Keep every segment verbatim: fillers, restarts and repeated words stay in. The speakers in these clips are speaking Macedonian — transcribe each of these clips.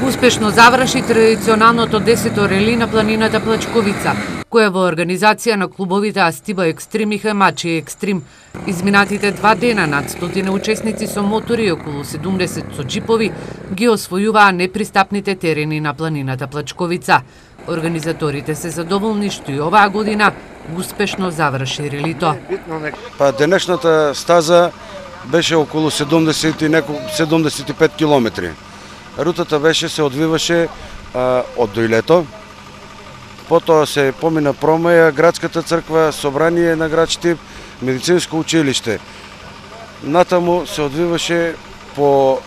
Успешно заврши традиционалното десето рели на планината Плачковица, која во организација на клубовите Астиба Екстрим и Хамачи Екстрим. Изминатите два дена над стотина учесници со мотори и околу седумдесет со джипови ги освојуваа непристапните терени на планината Плачковица. Организаторите се задоволни што и оваа година успешно заврши релито. Па денешната стаза беше околу седумдесет и неколку седумдесет и пет километри. Рутата беше се одвиваше а, од Доилето, потоа се помина Промаја, градската црква, собрание на град Штип, медицинско училиште. Натаму се одвиваше по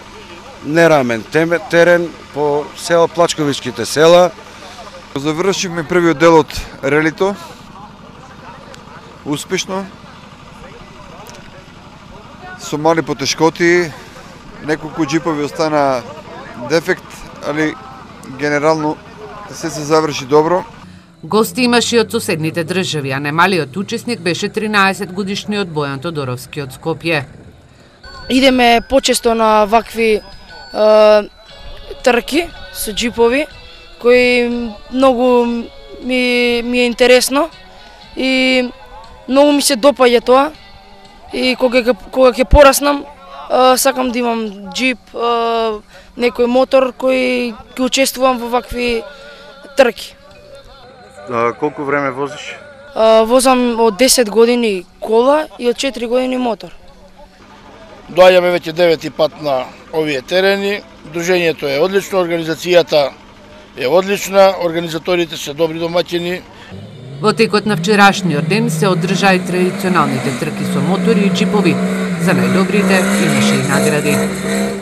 нерамен терен, по села Плачковичките села. Завршивме првиот дел од релито, успешно, со мали потешкоти, неколку джипови остана дефект, али генерално се се заврши добро. Гости имаше и од соседните држави, а најмалиот учесник беше тринаесет годишниот Бојан Тодоровски од Скопје. Идеме почесто на вакви е, трки со джипови, кои многу ми, ми е интересно и многу ми се допаѓа тоа. И кога кога ќе пораснам, е, сакам да имам джип, е, некој мотор кој ќе учествувам во вакви трки. А, колку време возиш? А, возам од десет години кола и од четири години мотор. Доаѓаме веќе девети пат на овие терени. Дружењето е одлично, организацијата е одлична, организаторите се добри домаќини. Во текот на вчерашниот ден се одржаа и традиционалните трки со мотори и джипови. За најдобрите имаше и награди.